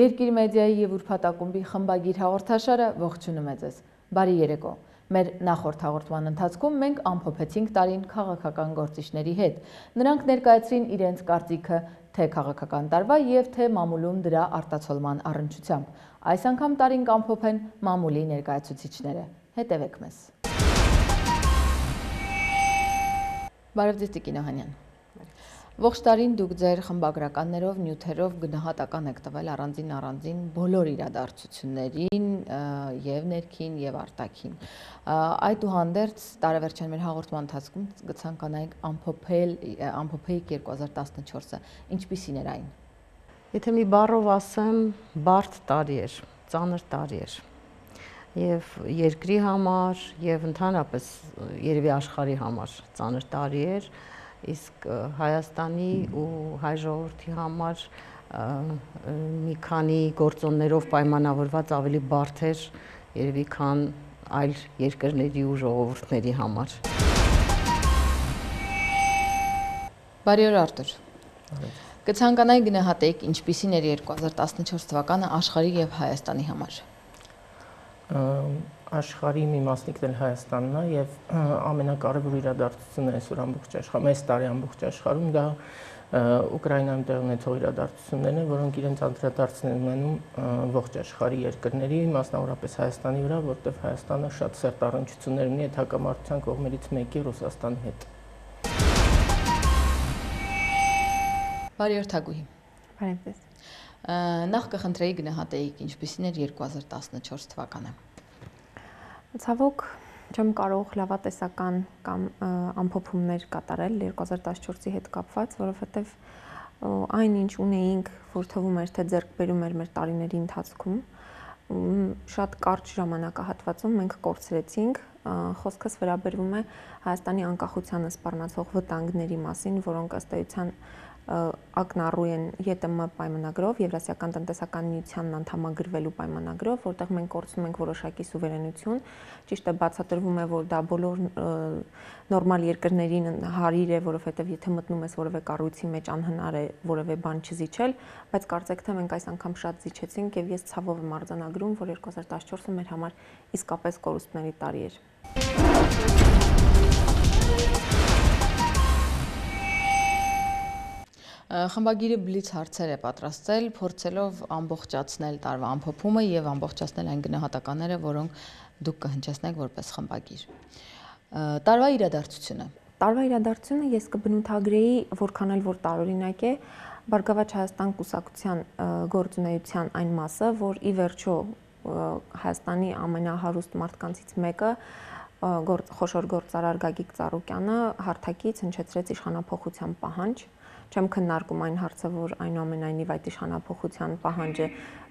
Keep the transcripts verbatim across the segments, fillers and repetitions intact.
Երկիր մեդիայի և ուրբաթակումբի խմբագիր հաղորդաշարը ողջունում է ձեզ։ Բարի երեկո։ Մեր նախորդ հաղորդման ընթացքում մենք ամփոփեցինք տարին քաղաքական գործիչների հետ։ Նրանք ներկայացրին իրենց կարծիքը թե քաղաքական տարվա և թե մամուլում դրա արտացոլման առնչությամբ։ Այս անգամ տարին կամփոփեն մամուլի ներկայացուցիչները։ Հետևեք մեզ։ Բարև ձեզ Տիկին Օհանյան։ Ողջ տարին դուք ձեր խմբագրականներով, նյութերով գնահատական եք տվել առանձին առանձին բոլոր իրադարձություններին եւ ներքին եւ արտաքին։ Այդուհանդերձ տարեվերջյան մեր հաղորդման ընթացքում կցանկանայինք ամփոփել ամփոփեիք երկու հազար տասնչորսը։ Ինչպիսին էր այն։ Եթե մի բառով ասեմ, բարդ տարի էր, ծանր տարի էր։ Եվ երկրի համար, եւ ընդհանրապես երևի աշխարհի համար ծանր տարի էր, իսկ Հայաստանի ու հայ ժողովրդի համար մի քանի գործոններով պայմանավորված ավելի բարդ էր, երևի քան այլ երկրների ու ժողովուրդների համար։ Բարի օր Արտուր։ Կցանկանայի գնահատեիք ինչպիսին էր երկու հազար տասնչորս թվականը աշխարհի եւ Հայաստանի համար։ Աշխարհի մի մասնիկն էլ Հայաստանն է եւ ամենակարևոր իրադարձությունը այսօր ամբողջ աշխարհում, այս տարի ամբողջ աշխարհում դա Ուկրաինայում տեղի ունեցող իրադարձություններն են, որոնք իրենց անդրադարձն են ունենում ողջ աշխարհի երկրների, մասնավորապես Հայաստանի վրա, որտեղ Հայաստանը շատ սերտ առնչություններ ունի այդ հակամարտության կողմերից մեկի Ռուսաստանի հետ։ Բարի օր Թագուհի։ Բարև ձեզ։ Նախ կխնդրեի գնահատեիք ինչպիսին էր երկու հազար տասնչորս թվականը։ Ցավոք չեմ կարող լավատեսական կամ ամփոփումներ կատարել երկու հազար տասնչորսի հետ կապված, որովհետև այն ինչ ունեինք, որ թվում էր թե ձեռք բերում էր մեր տարիների ընթացքում, շատ կարճ ժամանակահատվածում մենք կորցրեցինք։ Խոսքս վերաբերվում է Հայաստանի անկախությանը սպառնացող վտանգների մասին, որոնք ըստ էության ակնառու են ԵՏՄ պայմանագրով, Եվրասիական տնտեսական միությանն անդամագրվելու պայմանագրով, որտեղ մենք կորցնում ենք որոշակի սուվերենություն, ճիշտ է բացատրվում է, որ դա բոլոր նորմալ երկրներին հարիր է, որովհետև եթե մտնում ես որևէ կառույցի մեջ անհնար է որևէ բան չզիջել, բայց կարծեք թե մենք այս անգամ շատ զիջեցինք եւ ես ցավով եմ արձանագրում, որ երկու հազար տասնչորսը մեր համար իսկապես կորուստների տարի էր։ Խմբագիրը բլից հարցեր է պատրաստել, փորձելով ամբողջացնել տարվա ամփոփումը եւ ամբողջացնել այն գնահատականները, որոնք դուք կհնչեցնեք որպես խմբագիր։ Տարվա իրադարձությունը։ Տարվա իրադարձությունը ես կբնութագրեի, որքան էլ որ տարօրինակ է, Բարգավաճ Հայաստան կուսակցության գործունեության այն մասը, որ ի վերջո Հայաստանի ամենահարուստ մարդկանցից մեկը խոշոր գործարար Գագիկ Ծառուկյանը հարթակից հնչեցրեց իշխանափոխության պահանջ։ Չեմ քննարկում այն հարցը, որ այնուամենայնիվ այդ իշխանափոխության պահանջը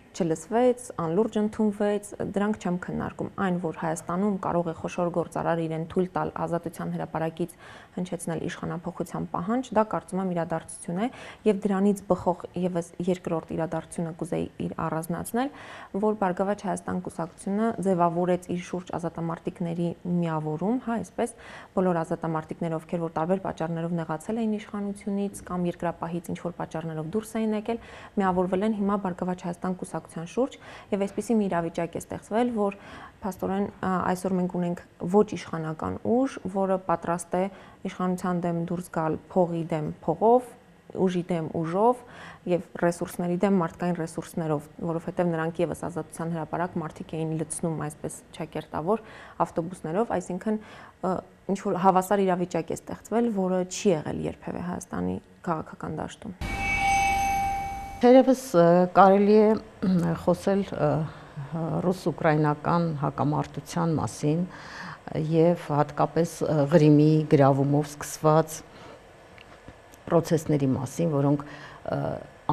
չլսվեց, անլուրջ ընդունվեց, դրանք չեմ քննարկում։ Այն, որ Հայաստանում կարող է խոշոր գործարար իրեն թույլ տալ Ազատության հրապարակից հնչեցնել իշխանափոխության պահանջ, դա կարծում եմ իրադարձություն է, եւ դրանից բխող եւս երկրորդ իրադարձությունը կուզեի իր առանձնացնել, որ Բարգավաճ Հայաստան կուսակցությունը ձևավորեց իր շուրջ ազատամարտիկների միավորում, հա, այսպես, բոլոր ազատամարտիկները, ովքեր որ տարբեր պատճառներով նեղացել էին իշխանությունից կամ երկրապահից ինչ որ պատճառներով դուրս էին եկել, միավորվել են հիմա Բարգավաճ Հայաստան կուսակցության շուրջ եւ այսպիսի մի իրավիճակ է ստեղծվել, որ փաստորեն այսօր մենք ունենք ոչ իշխանական ուժ, որը պատրաստ է իշխանության դեմ դուրս գալ փողի դեմ փողով, ուժի դեմ ուժով եւ ռեսուրսների դեմ մարդկային ռեսուրսներով, որովհետեւ նրանք եւս Ազատության հրապարակ մարդիկ էին լցնում այսպես ճակերտավոր ավտոբուսներով, այսինքն ինչ որ հավասար իրավիճակ է ստեղծվել, որը չի եղել երբևէ Հայաստանի քաղաքական դաշտում։ Թերևս կարելի է խոսել ռուս-ուկրաինական հակամարտության մասին եւ հատկապես Ղրիմի գրավումով սկսված պրոցեսների մասին, որոնք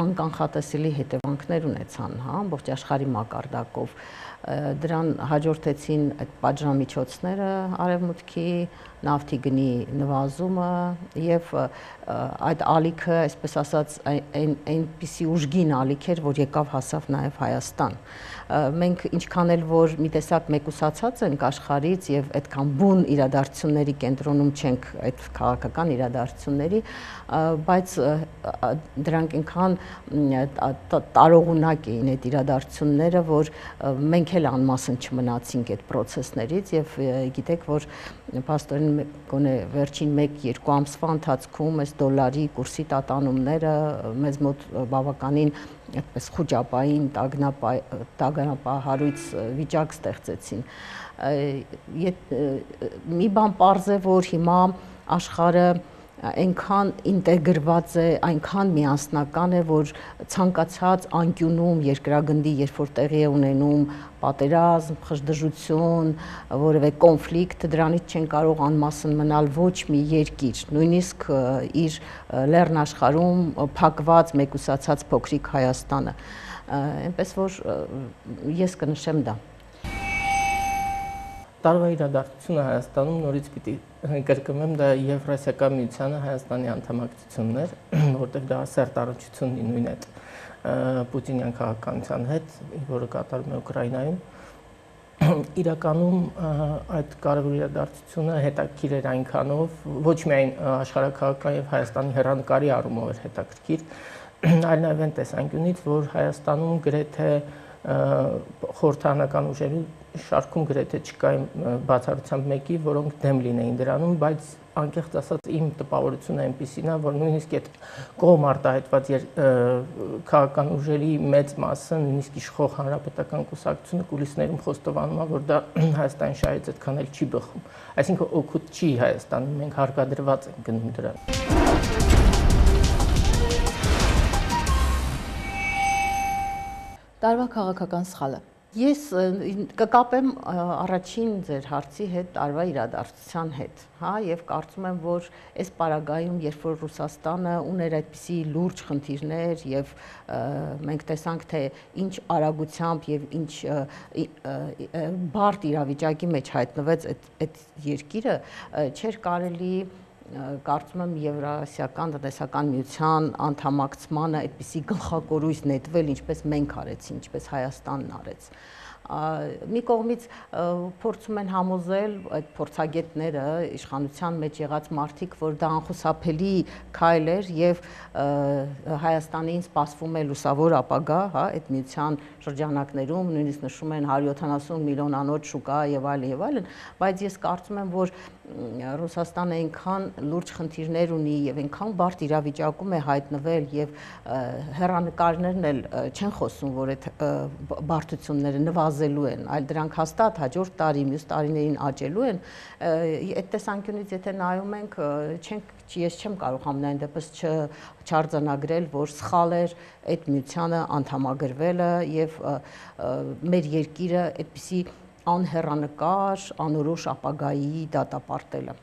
անկանխատեսելի հետևանքներ ունեցան, հա, ամբողջ աշխարհի մակարդակով։ Դրան հաջորդեցին այդ պատժամիջոցները արևմուտքի, նավթի գնի նվազումը եւ այդ ալիքը, այսպես ասած, այնպիսի ուժգին ալիք էր, որ եկավ հասավ նաեւ Հայաստան։ Մենք ինչքան էլ որ մի տեսակ մեկուսացած ենք աշխարհից եւ այդքան բուն իրադարձությունների կենտրոնում չենք այդ քաղաքական իրադարձությունների, բայց դրանք այնքան տարողունակ էին այդ իրադարձությունները, որ մենք էլ անմասն չմնացինք այդ process-ներից եւ գիտեք, որ փաստորեն գոնե վերջին մեկ-երկու ամսվա ընթացքում այս դոլարի կուրսի տատանումները մեզ մոտ բավականին այդպես խոճապային տագնապահարույց վիճակ ստեղծեցին։ Մի բան պարզ է, որ հիմա աշխարհը այնքան ինտեգրված է, այնքան միասնական է, որ ցանկացած անկյունում երկրագնդի, երբ որ տեղի է ունենում պատերազմ, խժդժություն, որևէ կոնֆլիկտ, դրանից չեն կարող անմասն մնալ ոչ մի երկիր, նույնիսկ իր լեռնաշխարհում փակված, մեկուսացած փոքրիկ Հայաստանը։ Այնպես որ ես կնշեմ դա։ Տարվա իրադարձությունը Հայաստանում նորից պիտի կրկնեմ, դա Եվրասիական միությանը Հայաստանի անդամակցությունն էր, որտեղ դա սերտ առնչություն ունի նույն այդ Պուտինյան քաղաքականության հետ, որը կատարվում է Ուկրաինայում։ Իրականում այդ կարևոր իրադարձությունը հետաքրքիր էր այնքանով, ոչ միայն աշխարհաքաղաքական եւ Հայաստանի հեռանկարի առումով էր հետաքրքիր, այլ նաեւ այն տեսանկյունից, որ Հայաստանում գրեթե խորհրդարանական ուժերի շարքում գրեթե չկային բացառությամբ մեկի, որոնք դեմ լինեին դրանում, բայց անկեղծ ասած իմ տպավորությունը այնպեսին է, որ նույնիսկ այդ կողմ արտահայտված քաղաքական ուժերի մեծ մասը, նույնիսկ իշխող հանրապետական կուսակցությունը կուլիսներում խոստովանում է, որ դա Հայաստանի շահից այդքան էլ չի բխում։ Այսինքն օգուտ չի Հայաստանում, մենք հարկադրված ենք գնում դրան։ Տարվա քաղաքական սխալը։ Ես կկապեմ առաջին ձեր հարցի հետ տարվա իրադարձության հետ, հա, եւ կարծում եմ, որ այս պարագայում, երբ որ Ռուսաստանը ուներ այդպիսի լուրջ խնդիրներ եւ մենք տեսանք, թե ինչ արագությամբ եւ ինչ բարդ իրավիճակի մեջ հայտնվեց այդ այդ երկիրը, չէր կարելի կարծում եմ Եվրասիական տնտեսական միության անդամակցմանը այդպիսի գլխակորույս նետվել, ինչպես մենք արեցին, ինչպես Հայաստանն արեց։ Մի կողմից փորձում են համոզել այդ փորձագետները, իշխանության մեջ եղած մարդիկ, որ դա անխուսափելի քայլ էր եւ Հայաստանին սպասվում է լուսավոր ապագա, հա, այդ միության շրջանակներում, նույնիսկ նշում են հարյուր յոթանասուն միլիոնանոց շուկա եւ այլն եւ այլն, բայց ես կարծում եմ, որ Ռուսաստանը այնքան լուրջ խնդիրներ ունի եւ այնքան բարդ իրավիճակում է հայտնվել եւ հեռանկարներն էլ չեն խոսում, որ այդ բարդությունները նվազելու են, այլ դրանք հաստատ հաջորդ տարի, մյուս տարիներին աճելու են, այդ տեսանկյունից եթե նայում ենք, չենք ես չեմ կարող ամենայն դեպս չարձանագրել, որ սխալ էր այդ միությանը անդամագրվելը եւ մեր երկիրը այդպիսի անհեռանկար, անորոշ ապագայի դատապարտելը։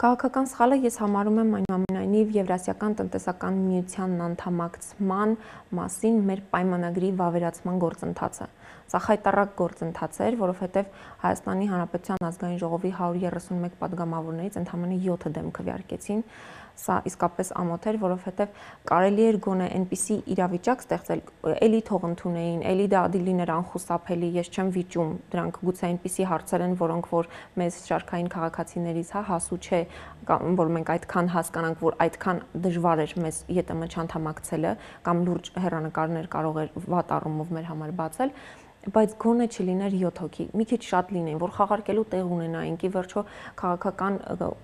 Քաղաքական սխալը ես համարում եմ այնուամենայնիվ Եվրասիական տնտեսական միությանն անդամակցման մասին մեր պայմանագրի վավերացման գործընթացը։ Սա խայտառակ գործընթաց էր, որովհետև Հայաստանի Հանրապետության ազգային ժողովի հարյուր երեսունմեկ падգամավորներից ընդամենը յոթը դեմ քվեարկեցին։ Սա իսկապես ամոթ էր, որովհետև կարելի էր գոնե այնպիսի իրավիճակ ստեղծել, էլի թող ընդունեին, էլի դա դիլիներ անխուսափելի, ես չեմ վիճում, դրանք գուցե այնպիսի հարցեր են, որոնք որ մեզ շարքային քաղաքացիներից, հա, հասու չէ, որ մենք այդքան հասկանանք, որ այդքան դժվար էր մեզ ԵՏՄ չանդամակցելը, կամ լուրջ հեռանկարներ կարող էր վատ առումով մեր համար բացել, բայց գոնե չլիներ յոթ հոգի, մի քիչ շատ լինեն, որ խաղարկելու տեղ ունենայինք, ի վերջո քաղաքական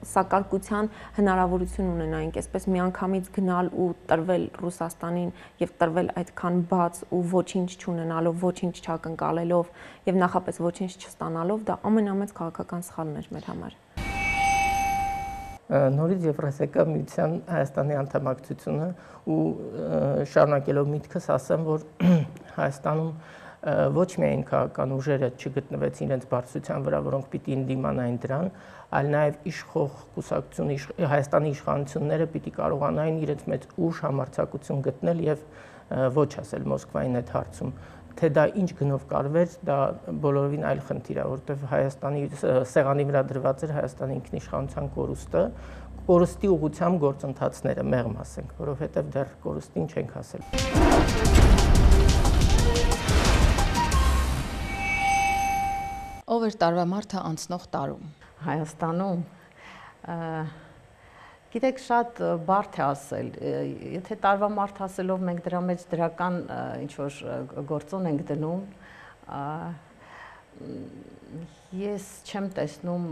սակարկության հնարավորություն ունենայինք, այսպես միանգամից գնալ ու տրվել Ռուսաստանին եւ տրվել այդքան բաց ու ոչինչ չունենալով, ոչինչ չակնկալելով եւ նախապես ոչինչ չստանալով, դա ամենամեծ քաղաքական սխալն էր մեր համար։ Նորից Եվրասիական միության Հայաստանի անդամակցությունը ու շարունակելով միտքս ասեմ, որ Հայաստանում ոչ միայն քաղաքական ուժերը չգտնվեցին իրենց բարձրության վրա, որոնք պիտի ընդդիմանային դրան, այլ նաև իշխող կուսակցությունը, Հայաստանի իշխանությունները պիտի կարողանային իրենց մեծ ուժ համարձակություն գտնել եւ ոչ ասել Մոսկվային այդ հարցում, թե դա ինչ գնով կարվեր, դա բոլորովին այլ խնդիր է, որովհետև Հայաստանի սեղանի վրա դրված էր Հայաստանի ինքնիշխանության կորուստը, կորուստի ուղղությամբ գործընթացները մեղմ ասենք, որովհետև դեռ կորուստին չենք հասել։ Ով էր տարվա մարդը անցնող տարում։ Հայաստանում գիտեք շատ բարդ է ասել, եթե տարվա մարդ ասելով մենք դրա մեջ դրական ինչ որ գործոն ենք դնում, ես չեմ տեսնում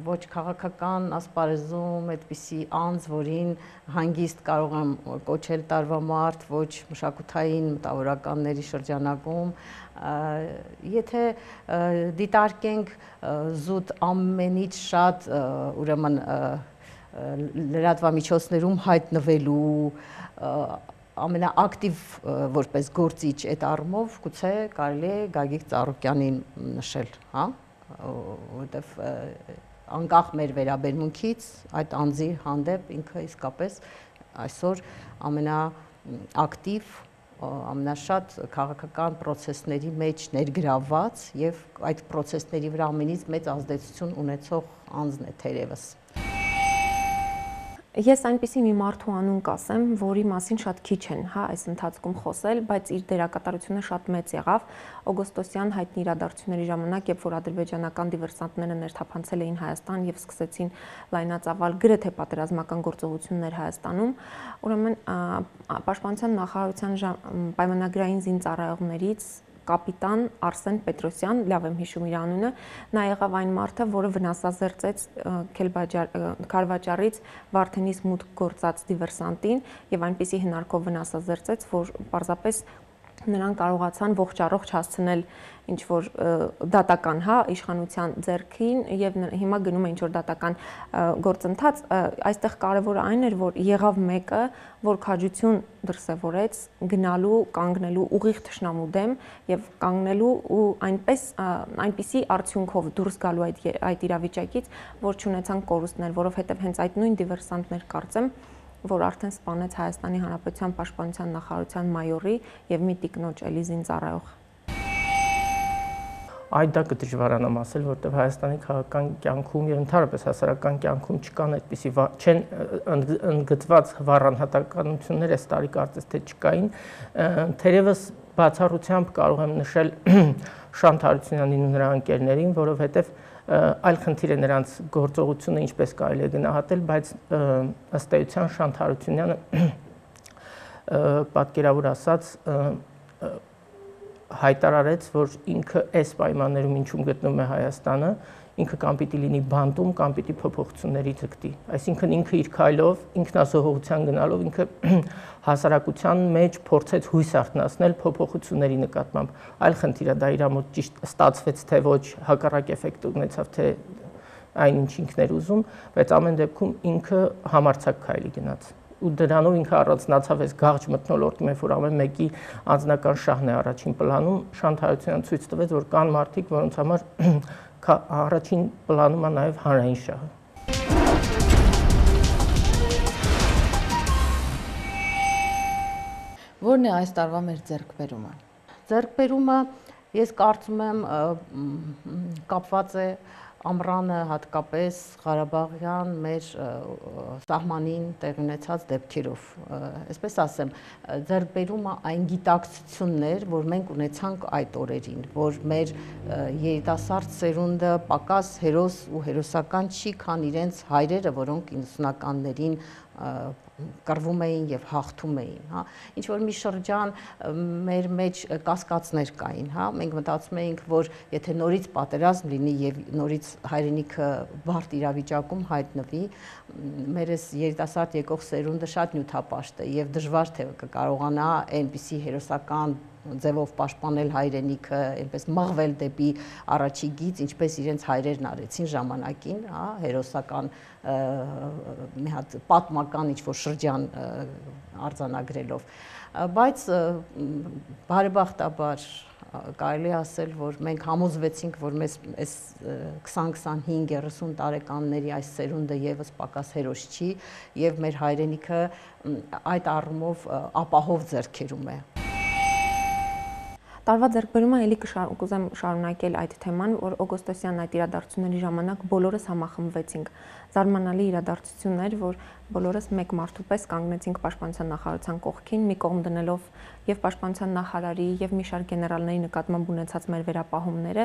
ոչ քաղաքական ասպարեզում այդպիսի անձ, որին հանգիստ կարող եմ կոչել տարվա մարդ, ոչ մշակութային մտավորականների շրջանակում, եթե դիտարկենք զուտ ամենից շատ ուրեմն լրատվամիջոցներում հայտնվելու ամենաակտիվ որպես գործիչ այդ առումով գուցե կարելի է Գագիկ Ծառուկյանին նշել, հա, որովհետև անկախ մեր վերաբերմունքից այդ անձի հանդեպ ինքը իսկապես այսօր ամենաակտիվ, ամենաշատ քաղաքական պրոցեսների մեջ ներգրավված եւ այդ պրոցեսների վրա ամենից մեծ ազդեցություն ունեցող անձն է թերևս։ Ես այնպիսի մի մարդու անուն կասեմ, որի մասին շատ քիչ են, հա, այս ընթացքում խոսել, բայց իր դերակատարությունը շատ մեծ եղավ օգոստոսյան հայտնի իրադարձությունների ժամանակ, երբ որ ադրբեջանական դիվերսանտները ներթափանցել էին Հայաստան եւ սկսեցին լայնածավալ գրեթե պատերազմական գործողություններ Հայաստանում, ուրեմն Պաշտպանության նախարարության պայմանագրային զինծառայողներից կապիտան Արսեն Պետրոսյան, լավ եմ հիշում իր անունը, նա եղավ այն մարդը, որը վնասազերծեց Քարվաճառից Վարդենիս մուտք գործած դիվերսանտին եւ այնպիսի հնարքով վնասազերծեց, որ պարզապես նրան կարողացան ողջ առողջ հասցնել ինչ որ դատական, հա, իշխանության ձեռքին եւ հիմա գնում է ինչ որ դատական գործընթաց, այստեղ կարևորը այն էր, որ եղավ մեկը, որ քաջություն դրսևորեց գնալու, կանգնելու ուղիղ թշնամու դեմ եւ կանգնելու ու այնպես այնպիսի արդյունքով դուրս գալու այդ այդ իրավիճակից, որ չունեցան կորուստներ, որովհետեւ հենց այդ նույն դիվերսանտներ կարծեմ որ արդեն սպանեց Հայաստանի Հանրապետության Պաշտպանության նախարարության մայորի եւ մի տիկնոջ էլի զինծառայող։ Այդ դա կդժվարանամ ասել, որովհետև Հայաստանի քաղաքական կյանքում եւ ընդհանրապես հասարակական կյանքում չկան այդպիսի չեն ընդգծված վառանհատականություններ, այս տարի կարծես թե չկային, թերևս բացառությամբ կարող եմ նշել Շանթ Հարությունյանին ու նրա ընկերներին, որովհետև այլ խնդիր է նրանց գործողությունը ինչպես կարելի է գնահատել, բայց ըստ էության Շանթ Հարությունյանը պատկերավոր ասած հայտարարեց, որ ինքը այս պայմաններում ինչում գտնվում է Հայաստանը, ինքը կամ պիտի լինի բանտում, կամ պիտի փոփոխությունների ձգտի։ Այսինքն ինքը իր քայլով, ինքնազոհողության գնալով ինքը հասարակության մեջ փորձեց հույս արթնացնել փոփոխությունների նկատմամբ։ Այլ խնդիր է, դա իր մոտ ճիշտ ստացվեց, թե ոչ, հակառակ էֆեկտ ունեցավ, թե այնինչ ինքն էր ուզում, բայց ամեն դեպքում ինքը համարձակ քայլի գնաց։ Ու դրանով ինքը առանձնացավ այս գաղջ մթնոլորտում, որ ամեն մեկի անձնական շահն է առաջին պլանում, Շանթ Հարությունյանը ցույց տվեց, որ կան մարդիկ, որոնց համար առաջին պլանում է նաև հանրային շահը։ Որն է այս տարվա մեր ձեռքբերումը։ Ձեռքբերումը ես կարծում եմ կապված է ամռանը հատկապես Ղարաբաղյան մեր սահմանին տեղ ունեցած դեպքերով, այսպես ասեմ, ձեռքբերումը այն գիտակցություններ, որ մենք ունեցանք այդ օրերին, որ մեր երիտասարդ սերունդը պակաս հերոս ու հերոսական չի, քան իրենց հայրերը, որոնք իննսունականներին կռվում էին եւ հաղթում էին, հա, ինչ որ մի շրջան մեր մեջ կասկածներ կային, հա, մենք մտածում էինք, որ եթե նորից պատերազմ լինի եւ նորից հայրենիքը բարդ իրավիճակում հայտնվի, մեր այս երիտասարդ եկող սերունդը շատ նյութապաշտ է եւ դժվար թե կկարողանա այնպիսի հերոսական ձևով պաշտպանել հայրենիքը, այնպես մղվել դեպի առաջի գիծ, ինչպես իրենց հայրերն արեցին ժամանակին, հա, հերոսական մի հատ պատմական ինչ-որ շրջան արձանագրելով, բայց բարեբախտաբար կարելի ասել, որ մենք համոզվեցինք, որ մեզ այս քսան քսանհինգ երեսուն տարեկանների այս սերունդը եւս պակաս հերոս չի եւ մեր հայրենիքը այդ առումով ապահով ձեռքերում է։ Տարվա ձեռքբերումը էլի կուզեմ շարունակել այդ թեման, որ օգոստոսյան այդ իրադարձությունների ժամանակ բոլորս համախմբվեցինք։ Զարմանալի իրադարձություն էր, որ բոլորս մեկ մարդու պես կանգնեցինք Պաշտպանության նախարարության կողքին, մի կողմ դնելով եւ Պաշտպանության նախարարի եւ մի շարք գեներալների նկատմամբ ունեցած մեր վերապահումները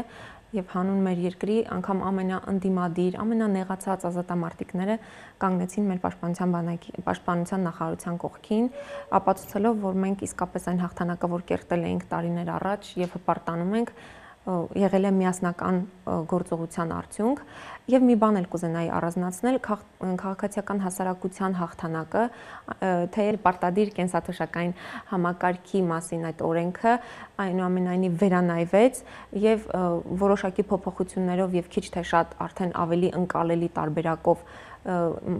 եւ հանուն մեր երկրի անգամ ամենաընդդիմադիր, ամենանեղացած ազատամարտիկները կանգնեցին մեր Պաշտպանության բանակի Պաշտպանության նախարարության կողքին, ապացուցելով, որ մենք իսկապես այն հաղթանակը, որ կերտել էինք տարիներ առաջ եւ հպարտանում ենք, եղել է միասնական գործողության արդյունք եւ մի բան էլ կուզենայի առանձնացնել քաղաքացիական հասարակության հաղթանակը, թեև պարտադիր կենսաթոշակային համակարգի մասին այդ օրենքը այնուամենայնիվ վերանայվեց եւ որոշակի փոփոխություններով եւ քիչ թե շատ արդեն ավելի ընկալելի տարբերակով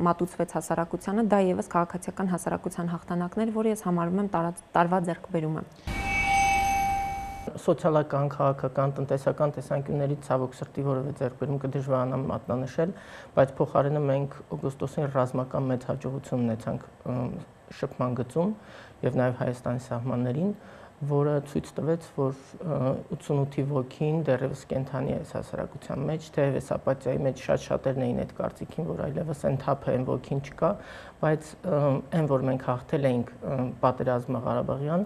մատուցվեց հասարակությանը, դա եւս քաղաքացիական հասարակության հաղթանակներ, որը ես համարում եմ տարվա ձեռքբերումը։ Սոցիալական, քաղաքական, տնտեսական տեսանկյուններից ցավոք սրտի որևէ ձեռքբերում կդժվարանամ մատնանշել, բայց փոխարենը մենք օգոստոսին ռազմական մեծ հաջողություն ունեցանք շփման գծում եւ նաեւ Հայաստանի սահմաններին, որը ցույց տվեց, որ ութսունութի ոգին դեռևս կենթանի է հասարակության մեջ, թեև այս ապաթիայի մեջ շատ շատերն էին այդ կարծիքին, որ այլևս ընդհանուր են ոգին չկա, բայց այն, որ մենք հաղթել էինք պատերազմը Ղարաբաղյան,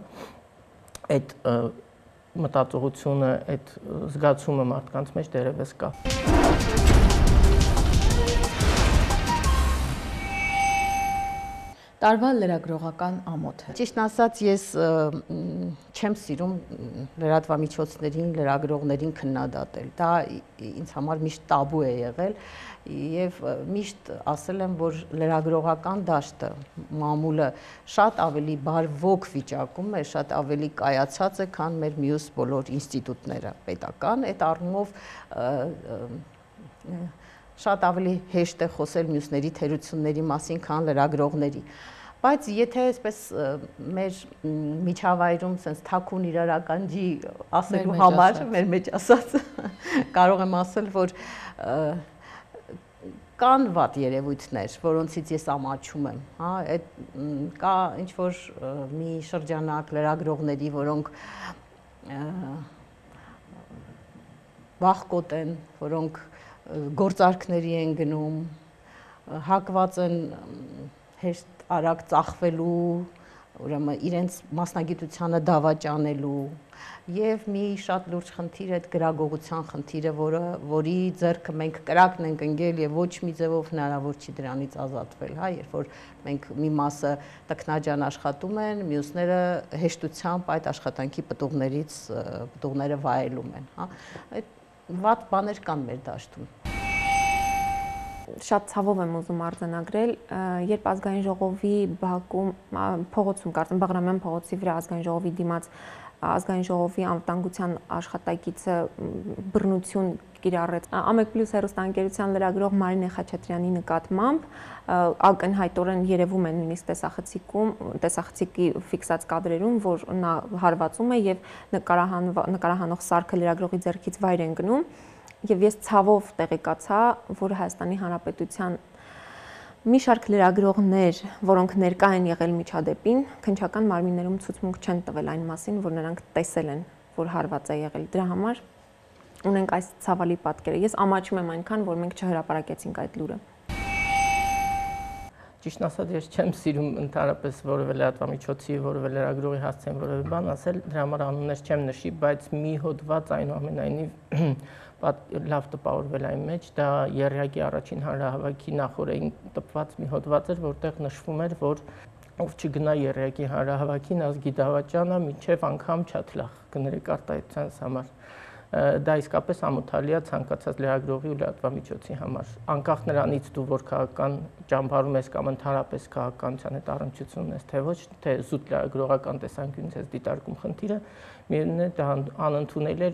այդ մտածողությունը, այդ զգացումը մարդկանց մեջ դեռևս կա։ Տարվա լրագրողական ամոթը։ Ճիշտն ասած, ես չեմ սիրում լրատվամիջոցներին, լրագրողներին քննադատել։ Դա ինձ համար միշտ տաբու է եղել եւ միշտ ասել եմ, որ լրագրողական դաշտը, մամուլը շատ ավելի բարվոք վիճակում է, շատ ավելի կայացած է, քան մեր մյուս բոլոր ինստիտուտները պետական, այդ առումով շատ ավելի հեշտ է խոսել մյուսների թերությունների մասին, քան լրագրողների։ Բայց եթե այսպես մեր միջավայրում sense թաքուն իրարականջի ասելու համար, մեր մեջ ասած, կարող եմ ասել, որ կան վատ երևույթներ, որոնցից ես ամաչում եմ, հա, այդ կա ինչ որ մի շրջանակ լրագրողների, որոնք վախկոտ են, որոնք գործարքների են գնում, հակված են հեշտ արագ ծախվելու, ուրեմն իրենց մասնագիտությանը դավաճանելու եւ մի շատ լուրջ խնդիր է այդ գրագողության խնդիրը, որը որի ձեռքը մենք կրակն ենք ընկել եւ ոչ մի ձևով հնարավոր չի դրանից ազատվել, հա, երբ որ մենք մի մասը տքնաջան աշխատում են, մյուսները հեշտությամբ այդ աշխատանքի պտուղներից պտուղները վայելում են, հա, այդ վատ բաներ կան մեր դաշտում։ Շատ ցավով եմ ուզում արձանագրել, երբ ազգային ժողովի Բաքվում փողոցում, կարծեմ Բաղրամյան փողոցի վրա ազգային ժողովի դիմաց ազգային ժողովի անվտանգության աշխատակիցը բռնություն կիրառեց Ամեկ Պլյուս հեռուստաընկերության լրագրող Մարինե Խաչատրյանի նկատմամբ, ակնհայտորեն երևում է նույնիսկ տեսախցիկում, տեսախցիկի ֆիքսած կադրերում, որ նա հարվածում է եւ նկարահանող սարքը լրագրողի ձեռքից վայր են գնում, եւ ես ցավով տեղեկացա, որ Հայաստանի Հանրապետության մի շարք լրագրողներ, որոնք ներկա են եղել միջադեպին, քննչական մարմիններում ցուցմունք չեն տվել այն մասին, որ նրանք տեսել են, որ հարված է եղել։ Դրա համար ունենք այս ցավալի պատկերը։ Ես ամաչում եմ այնքան, որ մենք չհրապարակեցինք այդ լուրը։ Ճիշտ ասած, ես չեմ սիրում ընդհանրապես որևէ լրատվամիջոցի, որևէ լրագրողի հասցեն որևէ բան ասել, դրա համար անուններ չեմ նշի, բայց մի հոդված այնուամենայնիվ լավ տպավորվել այն մեջ, դա եռյակի առաջին հանրահավաքի նախօրեին տպված մի հոդված էր, որտեղ նշվում էր, որ ով չգնա եռյակի հանրահավաքին, ազգի դավաճանա, մինչև անգամ չաթլախ կներեք արտահայտությանս համար։ Դա իսկապես ամոթալի է ցանկացած լրագրողի ու լրատվամիջոցի համար։ Անկախ նրանից դու որ քաղաքական ճամբարում ես կամ ընդհանրապես քաղաքականության հետ առնչություն ունես, թե ոչ, թե զուտ լրագրողական տեսանկյունից ես դիտարկում խնդիրը, միևնույն է դա անընդունել է։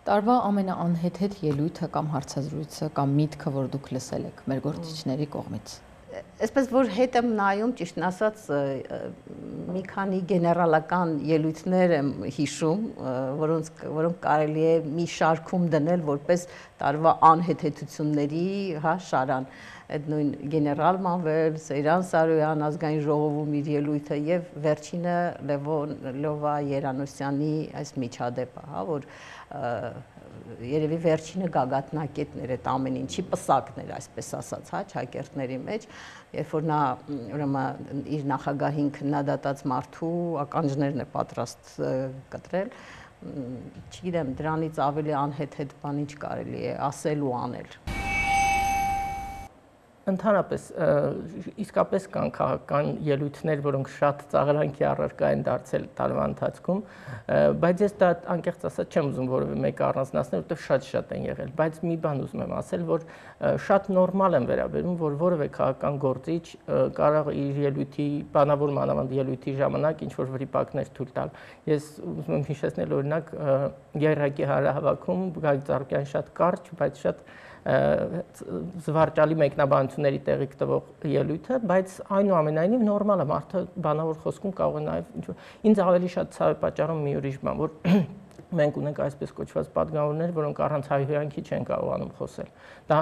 Տարվա ամենաանհեթեթ ելույթը կամ հարցազրույցը կամ միտքը, որ դուք լսել եք մեր գործիչների կողմից։ Այսպես որ հետ եմ նայում, ճիշտն ասած, մի քանի գեներալական ելույթներ եմ հիշում, որոնց որոնք կարելի է մի շարքում դնել որպես տարվա անհեթեթությունների, հա, շարան։ այդ նույն գեներալ Մանվել, Սեյրան Սարոյան ազգային ժողովում իր ելույթը եւ վերջինը Լևոն Լովա Երանոսյանի այս միջադեպը, հա, որ երևի վերջինը գագաթնակետն էր այդ ամեն ինչի պսակն էր, այսպես ասած, հա, ճակերտների մեջ, երբ որ նա ուրեմն իր նախագահին քննադատած մարդու ականջներն է պատրաստ կտրել, չգիտեմ, դրանից ավելի անհեթեթ բան ինչ կարելի է ասել ու անել։ Ընդհանրապես իսկապես կան քաղաքական ելույթներ, որոնք շատ ծաղրանքի առարկա են դարձել տարվա ընթացքում, բայց ես դա անկեղծ ասած չեմ ուզում որևէ մեկը առանձնացնել, որովհետև շատ-շատ են եղել, բայց մի բան ուզում եմ ասել, որ շատ նորմալ եմ վերաբերում, որ որևէ քաղաքական գործիչ կարող է իր ելույթի, բանավոր մանավանդ ելույթի ժամանակ ինչ-որ վրիպակներ թույլ տալ։ Ես ուզում եմ հիշեցնել օրինակ ԵՌՀ-ի հանրահավաքում Գագիկ Ծառուկյանի շատ կարճ, բայց շատ զվարճալի մեկնաբանությունների տեղիք տվող ելույթը, բայց այնուամենայնիվ նորմալ է, մարդը բանավոր խոսքում կարող է նաև ինձ ավելի շատ ցավ է պատճառում մի ուրիշ բան, որ մենք ունենք այսպես կոչված պատգամավորներ, որոնք առանց հայհոյանքի չեն կարողանում խոսել։ Դա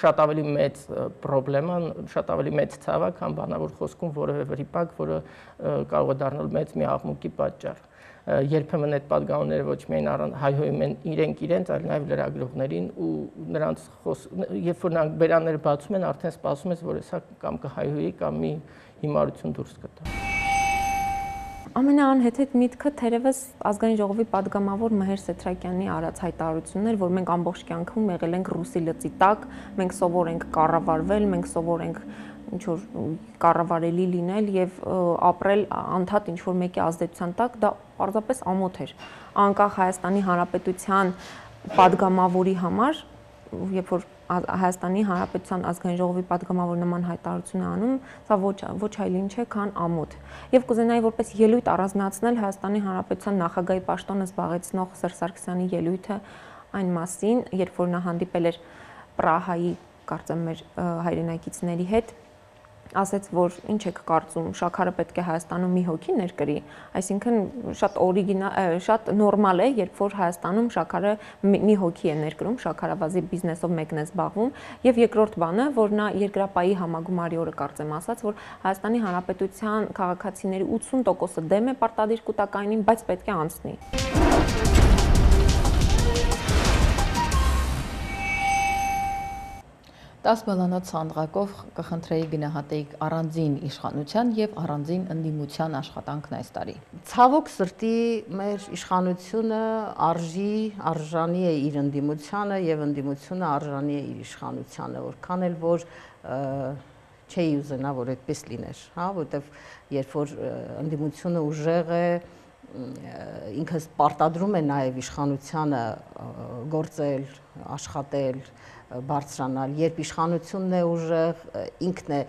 շատ ավելի մեծ խնդրեմ է, շատ ավելի մեծ ցավ է, քան բանավոր խոսքում որևէ վրիպակ, որը կարող է դառնալ մեծ մի աղմուկի պատճառ։ Երբեմն այդ պատգամավորները ոչ միայն հայհոյում են իրենք իրենց, այլ նաև լրագրողներին ու նրանց երբ որ նրանք բերանները բացում են, արդեն սպասում ես, որ հեսա կամ կհայհոյի կամ մի հիմարություն դուրս կտա։ Ամենաանհեթեթ միտքը թերևս ազգային ժողովի падգամավոր Մհեր Սեթրակյանի արած հայտարարությունն էր, որ մենք ամբողջ կյանքում եղել ենք ռուսի լծի տակ, մենք սովոր ենք կառավարվել, մենք սովոր ենք ինչ որ կառավարելի լինել եւ ապրել անդադ ինչ որ մեկի ազդեցության տակ, դա պարզապես ամոթ էր։ Անկախ Հայաստանի Հանրապետության падգամավորի համար, երբ որ Հայաստանի Հանրապետության ազգային ժողովի падգամավոր նման հայտարարություն է անում, սա ոչ ոչ այլ ինչ է, քան ամոթ։ Եվ կուզենայի որպես ելույթ առանձնացնել Հայաստանի Հանրապետության նախագահի պաշտոնը զբաղեցնող Սերժ Սարգսյանի ելույթը այն մասին, երբ որ նա հանդիպել էր Պրահայի, կարծեմ մեր հայրենակիցների հետ, ասաց, որ ինչ եք կարծում, շաքարը պետք է Հայաստանում մի հոգի ներկրի, այսինքն շատ օրիգինալ, շատ նորմալ է, երբ որ Հայաստանում շաքարը մի հոգի է ներկրում, շաքարավազի բիզնեսով մեկն է զբաղվում, եւ երկրորդ բանը, որ նա երկրապահի համագումարի օրը կարծեմ ասաց, որ Հայաստանի Հանրապետության քաղաքացիների ութսուն տոկոսը դեմ է պարտադիր կൂട്ടակայինին, բայց պետք է անցնի։ Տաս բալանոց սանդղակով կխնդրեի գնահատեիք առանձին իշխանության եւ առանձին ընդդիմության աշխատանքն այս տարի։ Ցավոք սրտի մեր իշխանությունը արժի, արժանի է իր ընդդիմությանը եւ ընդդիմությունը արժանի է իր իշխանությանը, որքան էլ որ չէի ուզենա, որ այդպես լիներ, հա, որովհետեւ երբ որ ընդդիմությունը ուժեղ է, ինքս պարտադրում է նաեւ իշխանությանը գործել, աշխատել, բարձրանալ, երբ իշխանությունն է ուժեղ, ինքն է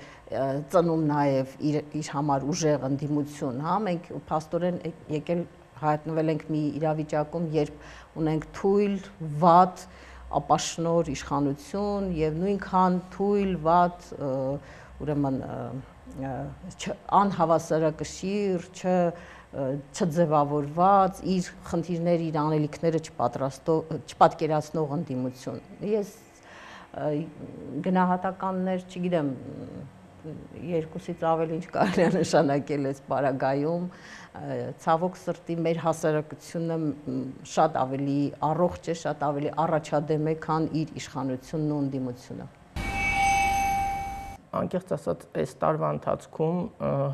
ծնում նաև իր, իր համար ուժեղ ընդդիմություն, հա, մենք փաստորեն եկել հայտնվել ենք մի իրավիճակում, երբ ունենք թույլ, վատ, ապաշնոր իշխանություն եւ նույնքան թույլ, վատ, ուրեմն անհավասարակշիռ, չ չձևավորված, իր խնդիրները, իր անելիքները չպատկերացնող ընդդիմություն։ Ես գնահատականներ, չգիտեմ, երկուսից ավելի ինչ կարելի է նշանակել այս պարագայում, ցավոք սրտի մեր հասարակությունը շատ ավելի առողջ է, շատ ավելի առաջադեմ է, քան իր իշխանությունն ու ընդդիմությունը։ Անկեղծ ասած, այս տարվա ընթացքում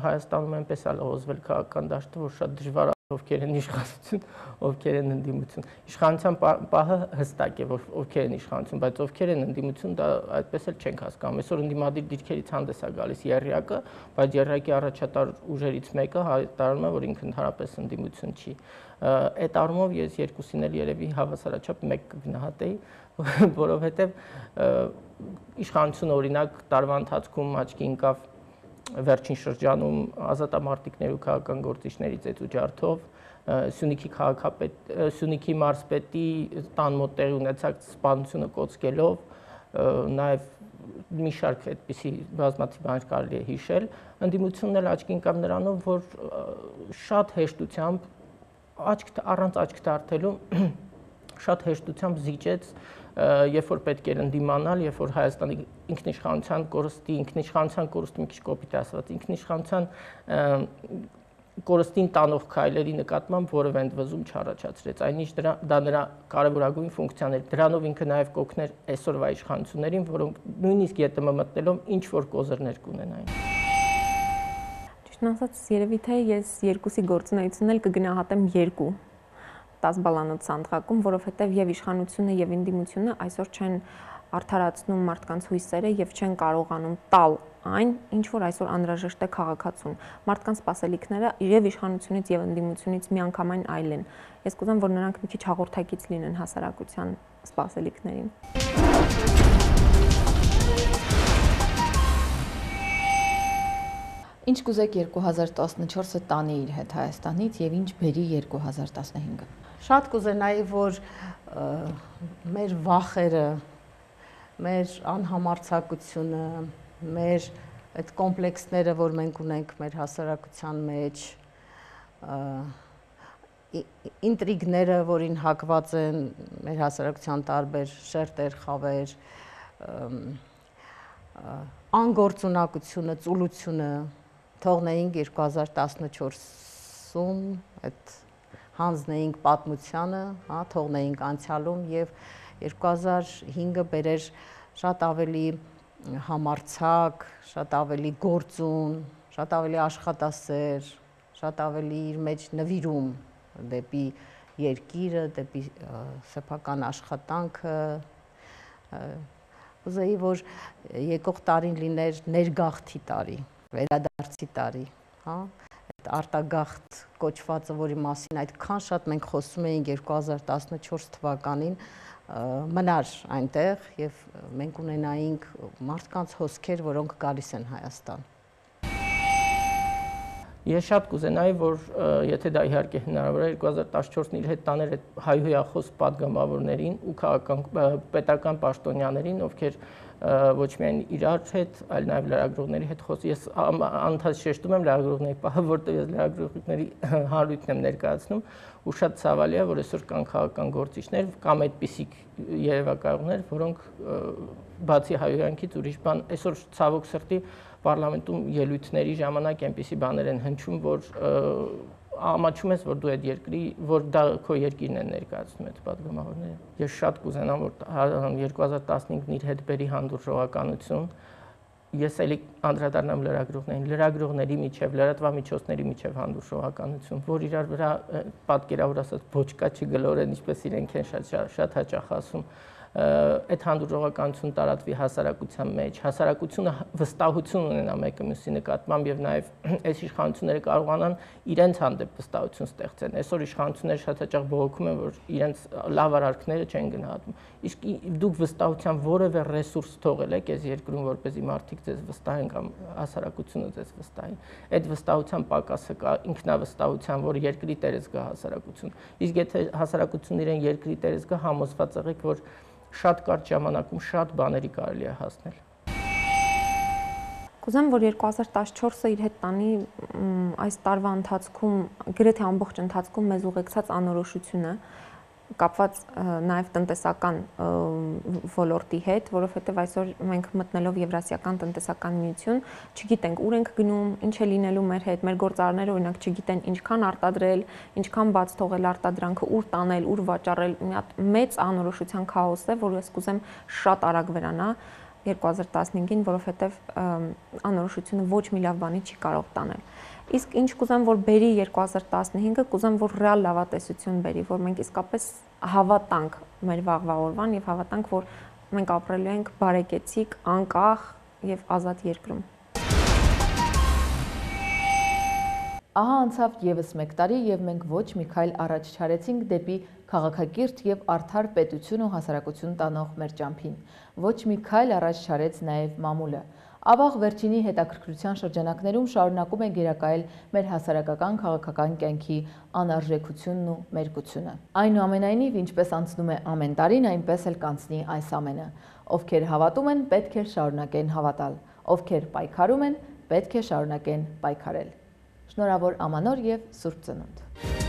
Հայաստանում այնպես է լողոզվել քաղաքական դաշտը, որ շատ դժվար է ովքեր են իշխանություն, ովքեր են ընդդիմություն։ Իշխանության պահը հստակ է, որ ովքեր են իշխանություն, բայց ովքեր են ընդդիմություն, դա այդպես էլ չենք հասկանում։ Այսօր ընդդիմադիր դիրքերից հանդես է գալիս ԵՌՀ-ը, բայց ԵՌՀ-ի առաջատար ուժերից մեկը հայտարարում է, որ ինքը ընդհանրապես ընդդիմություն չի։ Այդ առումով ես երկուսին էլ երևի հավասարաչափ մեկ կգնահատեի, որովհետև իշխանությունը օրինակ տարվա ընթացքում աչքի ընկավ վերջին շրջանում ազատամարտիկներ ու քաղաքական գործիչների ծեծուջարդով, Սյունիքի քաղաքապետ, Սյունիքի մարզպետի տան մոտ տեղի ունեցած սպանությունը կոծկելով, նաև մի շարք այդպիսի բազմաթիվ բաներ կարելի է հիշել, ընդդիմությունն էլ աչքի ընկավ նրանով, որ շատ հեշտությամբ աչք առանց աչք դարձելու շատ հեշտությամբ զիջեց, երբ որ պետք էր ընդդիմանալ, երբ որ Հայաստանի ինքնիշխանության կորստի, ինքնիշխանության կորստի մի քիչ կոպիտ ասված, ինքնիշխանության կորստին տանող քայլերի նկատմամբ որևէ ընդվզում չառաջացրեց, այնինչ դա նրա կարևորագույն ֆունկցիան էր։ Դրանով ինքը նաև կօգներ այսօրվա իշխանություններին, որոնք նույնիսկ ԵՏՄ մտնելով ինչ որ կոզրներ կունենային։ Ճիշտն ասած, երևի թե ես երկուսի գործունեությունն էլ կգնահատեմ երկու տասը բալանոց սանդղակում, որովհետև եւ իշխանությունը եւ ինդիմությունը այսօր չեն արդարացնում մարդկանց հույսերը եւ չեն կարողանում տալ այն, ինչ որ այսօր անհրաժեշտ է քաղաքացուն։ Մարդկանց սպասելիքները եւ իշխանությունից եւ ընդդիմությունից միանգամայն այլ են։ Ես կուզեմ, որ նրանք մի քիչ հաղորդակից լինեն հասարակության սպասելիքներին։ Ինչ կուզեք երկու հազար տասնչորսը տանի իր հետ Հայաստանից եւ ինչ բերի երկու հազար տասնհինգը։ Շատ կուզենայի, որ մեր վախերը, մեր անհամարձակությունը, մեր այդ կոմպլեքսները, որ մենք ունենք մեր հասարակության մեջ, ինտրիգները, որին հակված են մեր հասարակության տարբեր շերտեր, խավեր, անգործունակությունը, ծուլությունը թողնեինք երկու հազար տասնչորսում այդ հանձնեինք պատմությանը, հա, թողնեինք անցյալում եւ երկու հազար հինգը բերեր շատ ավելի համարձակ, շատ ավելի գործուն, շատ ավելի աշխատասեր, շատ ավելի իր մեջ նվիրում դեպի երկիրը, դեպի սեփական աշխատանքը։ Ուզեի, որ եկող տարին լիներ ներգաղթի տարի, վերադարձի տարի, հա, այդ արտագաղթ կոչվածը, որի մասին այդքան շատ մենք խոսում էինք երկու հազար տասնչորս թվականին, մնար այնտեղ եւ մենք ունենայինք մարդկանց հոսքեր, որոնք գալիս են Հայաստան։ Ես շատ կուզենայի, որ եթե դա իհարկե հնարավոր է երկու հազար տասնչորսն իր հետ տաներ այդ հայհոյախոս պատգամավորներին ու քաղաքական պետական պաշտոնյաներին, ովքեր ոչ միայն իրար հետ, այլ նաև լրագրողների հետ խոսի։ Ես անընդհատ շեշտում եմ լրագրողների պահը, որտեղ ես լրագրողների հանրույթն եմ ներկայացնում, ու շատ ցավալի է, որ այսօր կան քաղաքական գործիչներ կամ այդպիսիք երևակայողներ, որոնք բացի հայհոյանքից ուրիշ բան, այսօր ցավոք սրտի պարլամենտում ելույթների ժամանակ այնպիսի բաներ են հնչում, որ ամաչում ես, որ դու այդ երկրի, որ դա քո երկիրն է ներկայացնում այդ պատգամավորները։ Ես շատ կուզենամ, որ երկու հազար տասնհինգն իր հետ բերի հանդուրժողականություն։ Ես էլի անդրադառնամ լրագրողներին, լրագրողների միջև, լրատվամիջոցների միջև հանդուրժողականություն, որ իրար վրա պատկերավոր ասած ոչ կա չգլորեն, ինչպես իրենք են շատ շատ հաճախ ասում, այդ հանդուրժողականություն տարածվի հասարակության մեջ, հասարակությունը վստահություն ունենա մեկը մյուսի նկատմամբ եւ նաեւ այս իշխանությունները կարողանան իրենց հանդեպ վստահություն ստեղծեն։ Այսօր իշխանությունները շատ հաճախ բողոքում են, որ իրենց լավ արարքները չեն գնահատում։ Իսկ դուք վստահության որևէ ռեսուրս թողել եք այս երկրում, որպեսզի մարդիկ ձեզ վստահեն կամ հասարակությունը ձեզ վստահի։ Այդ վստահության պակասը կա ինքնավստահության, որ երկրի տերես գա հասարակություն։ Իսկ եթե հասարակությունն իրեն երկրի տերես գա, համոզված եղեք, որ շատ կարճ ժամանակում շատ բաների կարելի է հասնել։ Կուզեմ, որ երկու հազար տասնչորսը իր հետ տանի այս տարվա ընթացքում, գրեթե ամբողջ ընթացքում մեզ ուղեկցած անորոշությունը, կապված նաև տնտեսական ոլորտի հետ, որովհետև այսօր մենք մտնելով Եվրասիական տնտեսական միություն, չգիտենք ուր ենք գնում, ինչ է լինելու մեր հետ, մեր գործարարները օրինակ չգիտեն ինչքան արտադրել, ինչքան բաց թողել արտադրանքը, ուր տանել, ուր վաճառել, մի հատ մեծ անորոշության քաոս է, որ ես կուզեմ շատ արագ վերանա երկու հազար տասնհինգին, որովհետև անորոշությունը ոչ մի լավ բանի չի կարող տանել։ Իսկ ինչ կուզեմ, որ բերի երկու հազար տասնհինգը, կուզեմ, որ ռեալ լավատեսություն բերի, որ մենք իսկապես հավատանք մեր վաղվա օրվան եւ հավատանք, որ մենք ապրելու ենք բարեկեցիկ, անկախ եւ ազատ երկրում։ Ահա անցավ եւս մեկ տարի եւ մենք ոչ մի քայլ առաջ չարեցինք դեպի քաղաքակիրթ եւ արդար պետություն ու հասարակություն տանող մեր ճամփին։ Ոչ մի քայլ առաջ չարեց նաեւ մամուլը։ Ավաղ վերջինի հետաքրքրության շրջանակներում շարունակում է գերակայել մեր հասարակական քաղաքական կյանքի անարժեքությունն ու մերկությունը։ Այնուամենայնիվ, ինչպես անցնում է ամեն տարին, այնպես էլ կանցնի այս ամենը։ Ովքեր հավատում են, պետք է շարունակեն հավատալ։ Ովքեր պայքարում են, պետք է շարունակեն պայքարել։ Շնորհավոր ամանոր եւ Սուրբ Ծնունդ։